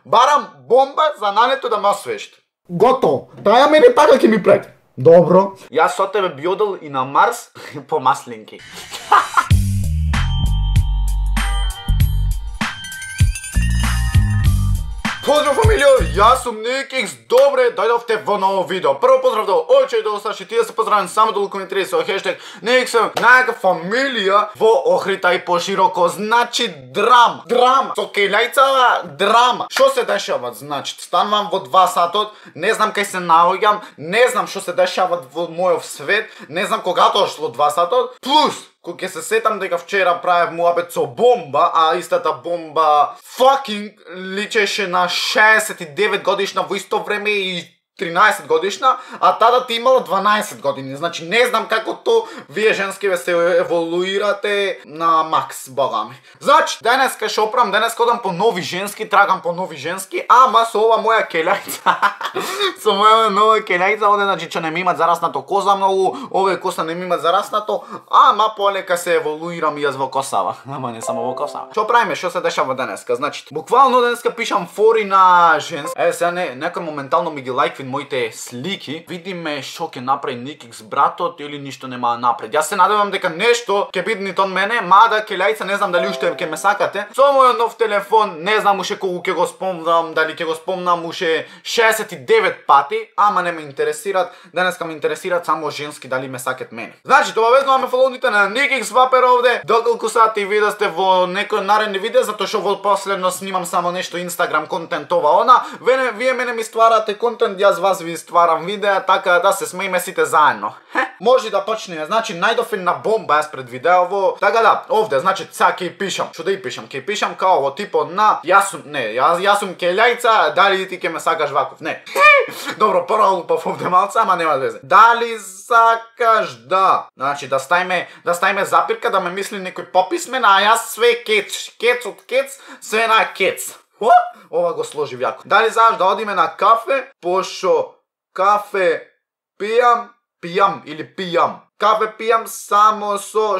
Барам бомба за нането да ме освешти. Готово. Таја мене така ќе ми прети. Добро. Јас со тебе би одел и на Марс по маслинки. Поздрав фамилио, јас сум Никикс, добре дојдовте во ново видео. Прво поздрав до Оче и до Саши, ти да се поздравам само до коментари со хештег Никиксом, најака фамилија во Охрита и пошироко, значи драма. Со келјајца драма. Што се дешава, значи, станувам во 2 сатот, не знам кај се наоѓам, не знам што се дешава во мојов свет, не знам кога дошло 2 сатот, плюс кога ќе се сетам дека вчера правев муабет со бомба, а истата бомба fucking личеше на 69 годишна во исто време и 13 годишна, а тата ти имала 12 години. Значи не знам како то вие женски ве се еволуирате на макс, бога ми. Значи, денеска што правам, денеска одам по нови женски, трагам по нови женски, ама со ова моја келјајца. Со моја нова келјајца, оде значи че не ми имат зараснато коза многу, овие коса не ми имат зараснато, ама полека се еволуирам и јас во косава. Ама не само во косава. Што правиме, што се дешава денеска? Значи, буквално денеска пишам фори на женски. Сега некој моментално ми ги лајкви моите слики, видиме што ќе направи Никикс братот или ништо нема да напред. Јас се надевам дека нешто ќе биде нит од мене, мада келјајца не знам дали уште ќе ме сакате. Со мојот нов телефон не знам уште колку ќе го спомнам, дали ќе го спомнам уште 69 пати, ама не ме интересираат. Денеска ме интересираат само женски дали ме сакат мене. Значи, обавезно ме фолоуните на Никикс Вапер овде. Доколку сати ви да сте во некој наредни видео, затоа што во последно снимам само нешто Инстаграм контент ова она. Вие мене ми стварате контент, јас вас ви стварам видеа, така да се смееме сите заедно. Може да почнеме. Значи најдов една бомба јас пред видеово. Така да, овде значи сега ќе пишам. Што да и пишам? Ќе пишам као во типот на јас сум келјајца, дали ти ќе ме сакаш ваков? Не. Добро, пролупав овде малце, ама нема везе. Дали сакаш да? Значи да ставиме запирка да ме мисли некој пописмен, а јас све кец од кец, све на кец. Ова го сложив јако. Дали знаеш да одиме на кафе, пошо кафе пијам. Кафе пијам само со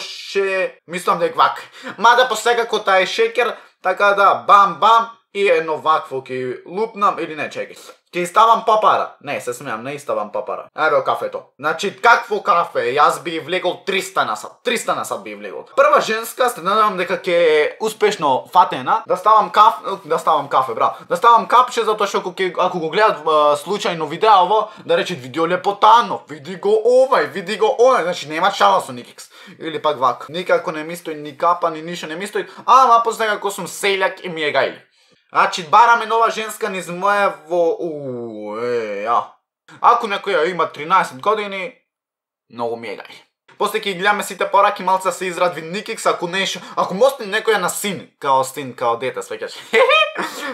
мислам дека вака. Мада посекако тај е шекер, така да бам и едно вакво ќе лупнам или не, чекај. Ќе ставам папара. Не, се смеам, не ставам папара. Еве кафето. Значи, какво кафе? Јас би влегол 300 на сат. 300 на сат би влегол. Прва женска, се надевам дека ќе е успешно фатена. Да ставам кафе, браво. Да ставам капче, затоа што ако го гледат случајно видеово, да речат видео лепотано, види го овај, види го онај. Значи, нема шала со Никикс. Или пак вака. Никако не ми стои ни капа, ни ништо не ми стои. Ама после како сум селјак и ми е гајли. Значи, бараме нова женска низ мојево... Ако некоја има 13 години, многу ми е гај. После ќе гледаме сите пораки, малца се израдви Никикс, ако мостни некоја на син, као дете, свеќаш.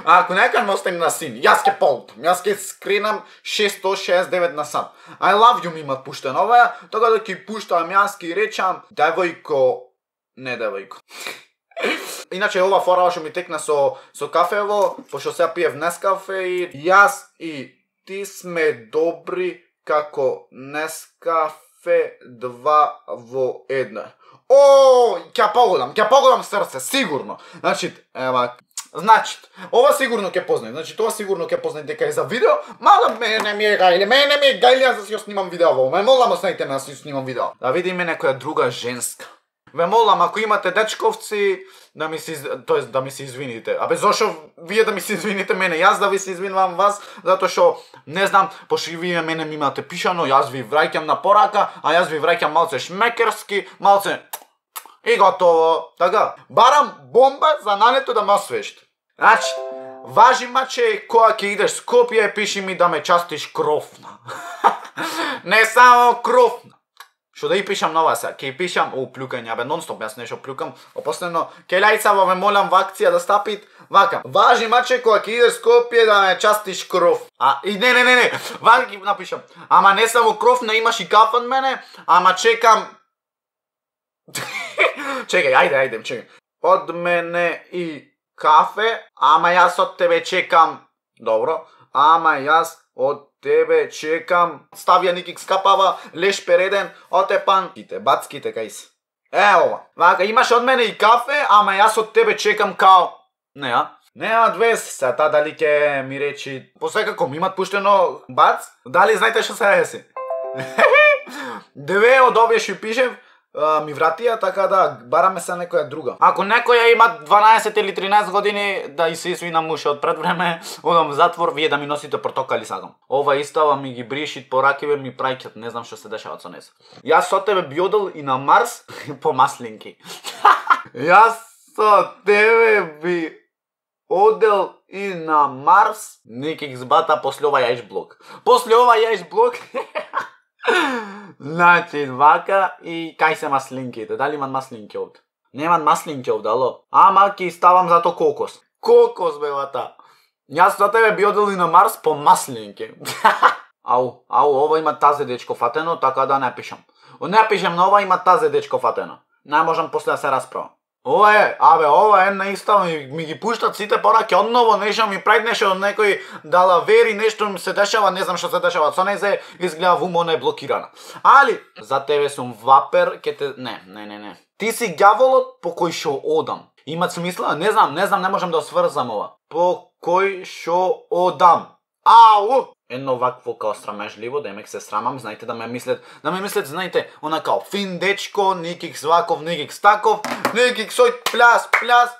Ако некоја мостни на син, јас ќе полутам, јас ќе скренам 669 на сат. I love you ми имат пуштен оваа, така да ќе пуштам, јас ќе речам, не девојко. Иначе ова фора што ми текна со кафево, пошто сега пиев Нескафе и јас и ти сме добри како Нескафе 2 во 1. Ќе погодам срце, сигурно. Значи, ова сигурно ќе познај. Значи, тоа сигурно ќе познај дека е за видео, мада мене ми е гајле, јас да си ја снимам видео во. Ме молам останите ме да си снимам видео. Да видиме некоја друга женска. Ве молам, ако имате дечковци, да ми се извините. Абе, зошо вие да ми се извините мене, јас да ви се извинувам вас, затоа што, не знам, пошто вие мене ми имате пишано, јас ви враќам на порака, а јас ви враќам малце шмекерски, малце и готово. Така, барам бомба за нането да ме освешти. Значи, важи маче, кога ќе идеш Скопје, пиши ми да ме частиш кровна. Не само кровна. Што да и пишам нова сега, ќе пишам, плюкање, абе нонстоп јас нешто плюкам, опоследно, келјајца ме молам во акција да стапит, вака, важи маче кога ќе идеш Скопје да ме частиш кров. Не, вака ќе напишам, ама не само кров, не имаш и кафе од мене, ама чекам, чекај, ајде, од мене и кафе, ама јас од тебе чекам, добро, ама јас од тебе чекам, ставија Никикс капава, леш переден, отепан, бацките кај си. Ова, вака, имаш од мене и кафе, ама јас од тебе чекам као... Не, Немат вес, се та дали ќе ми речи, посекако ми имат пуштено бац, дали знаете што се деси? Две од овие што пишев, ми вратија, така да бараме се некоја друга. Ако некоја има 12 или 13 години да и се извинам муше од пред време, одам в затвор, вие да ми носите портокали сакам. Ова истава ми ги бришит по ракиве, ми праќат, не знам што се дешава со нес. Јас со тебе би одел и на Марс по маслинки. Јас со тебе би одел и на Марс, неких збата после ова јаиш блок. После ова јаиш блок. Значи, вака и кај се маслинките? Дали имат маслинки овде? Немат маслинки овде, ало? Ама ки ставам зато кокос. Кокос, бевата. Јас со тебе би одел и на Марс по маслинки. Ау, ова има тазе дечко фатено, така да не пишам. Не пишам на ова, има тазе дечко фатено. Не можам после да се расправам. Ова е, ова е наистина ми ги пуштат сите пораки одново, нешто ми прави нешто од некој дала вери, нешто ми се дешава, не знам што се дешава со незе, изгледа вумо е блокирана. Али, за тебе сум вапер, ке те... Не. Ти си ѓаволот по кој шо одам. Имат смисла? Не знам, не можам да сврзам ова. По кој шо одам. Ау! Едно вакво као срамежливо, демек се срамам, знаете, да ме мислят, знаете, она као фин дечко, никик сваков, никик стаков, никик сој пляс,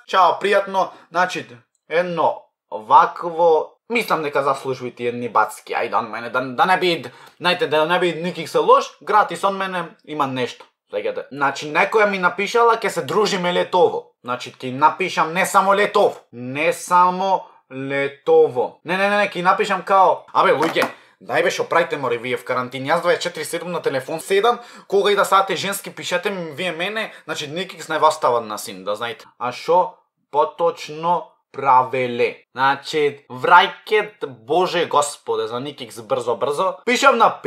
чао, пријатно, значи, едно вакво, мислам дека заслужувате едни бацки, ајде од мене, да не би, знаете, да не би никик се лош, гратис од мене има нешто. Значи, некоја ми напишала, ке се дружиме летово. Значи, ке напишам не само летово, летово. Не, ки напишам као... луѓе, дај беше опрајте море вие в карантин. Јас 24/7 на телефон седам, кога и да сате женски пишете ми вие мене, значи никакс не вас стават на син, да знаете. А шо поточно правеле? Значи, врајкет Боже Господе, за никакс брзо. Пишав на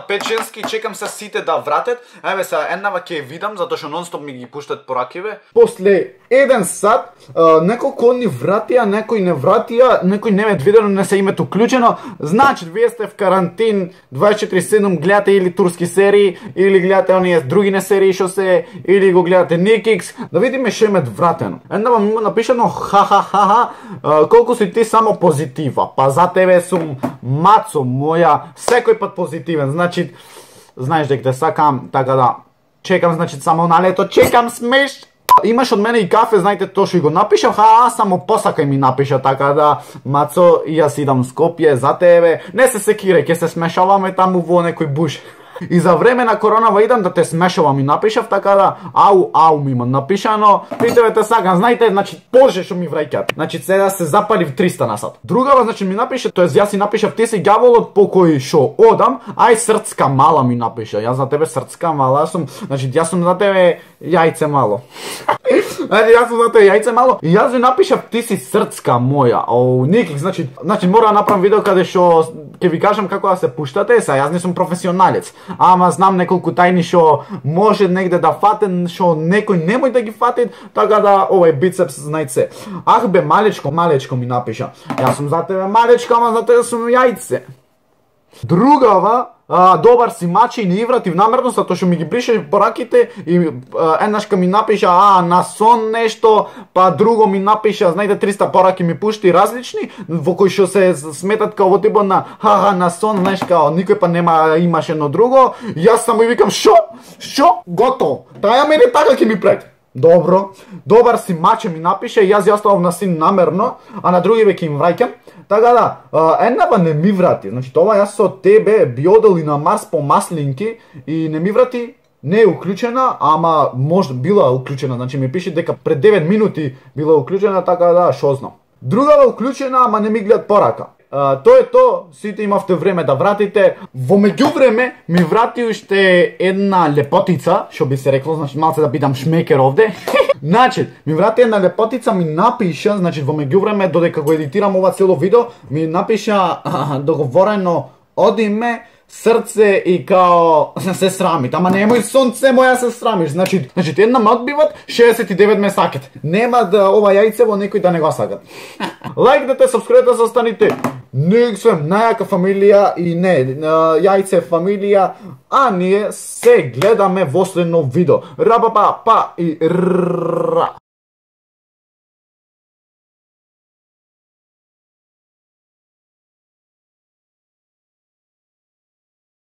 5 женски, чекам се сите да вратат. Еве се еднава ќе видам, затоа што нонстоп ми ги пуштат по ракиве. После 1 сат, неколку ни вратија, некои не вратија, некои не ме видено, не се името уклучено. Значи, вие сте в карантин 24/7, гледате или турски серии, или гледате оние други серии што се, или го гледате Никикс, да видиме што име вратено. Еднава ми напишано ха, колку си ти само позитива, па за тебе сум мацо моја, секој пат позитивен, значи, знаеш дека те сакам, така да, чекам, значи, само на лето, чекам смеш. Имаш од мене и кафе, знаете, то што и го напишав, само посакај ми напиша, така да, мацо, и јас идам Скопје за тебе, не се секирај, ќе се смешаваме таму во некој буш. И за време на коронава идам да те смешавам и напишав, така да, ау ми има напишано, при тебе те сакам, знаете, значи, Боже што ми враќат. Значи, сега се запалив 300 на сат. Другава, значи, ми напише, тоест јас си напишав, ти си ѓаволот по кој шо одам, ај срцка мала ми напиша, јас за тебе срцка мала, значи, јас сум за тебе јајце мало. Јас сум за тебе јајце мало, и јас ви напишав, ти си срцка моја, никак, значи, мора да направам видео каде шо, ќе ви кажам како да се пуштате, јас не сум професионалец. Ама знам неколку тајни што може негде да фатен, што некој немој да ги фатит, така да овај бицепс знајце. Ах бе, малечко ми напиша. Јас сум за тебе малечко, ама за тебе сум јајце. Другава, добар си мачи и не ивратив намерно, затоа што ми ги брише пораките и еднашка ми напиша, на сон нешто, па друго ми напиша, знаете, 300 пораки ми пушти различни, во кои што се сметат као во типот на на сон, знаеш, као никој па нема имаш едно друго, јас само и викам, шо, готово, таја мене така ќе ми пред. Добро, добар си маче ми напише, јас ја оставам на син намерно, а на други веќе им враќам. Така да, еднава не ми врати, значи тоа јас со тебе би одел и на Марс по маслинки и не ми врати, не е уклучена, ама може била уклучена, значи ми пише дека пред 9 минути била уклучена, така да, шо знам. Другава уклучена, ама не ми гледат порака. Тоа е то, сите имавте време да вратите. Во меѓувреме ми врати уште една лепотица, што би се рекло, значи малце да бидам шмекер овде. Значи, ми врати една лепотица, ми напиша, значи во меѓувреме додека го едитирам ова цело видео, ми напиша договорено од име, срце и као се срамит, ама немој сонце моја се срамиш, значи една ме одбиват, 69 ме сакат. Нема да ова јајце во некој да не го сакат. Лајкнете, сабскрибете, застаните. Никсвем најака фамилија и не, јајце фамилија, а ние се гледаме во следно видео. Рапапа, па и ра.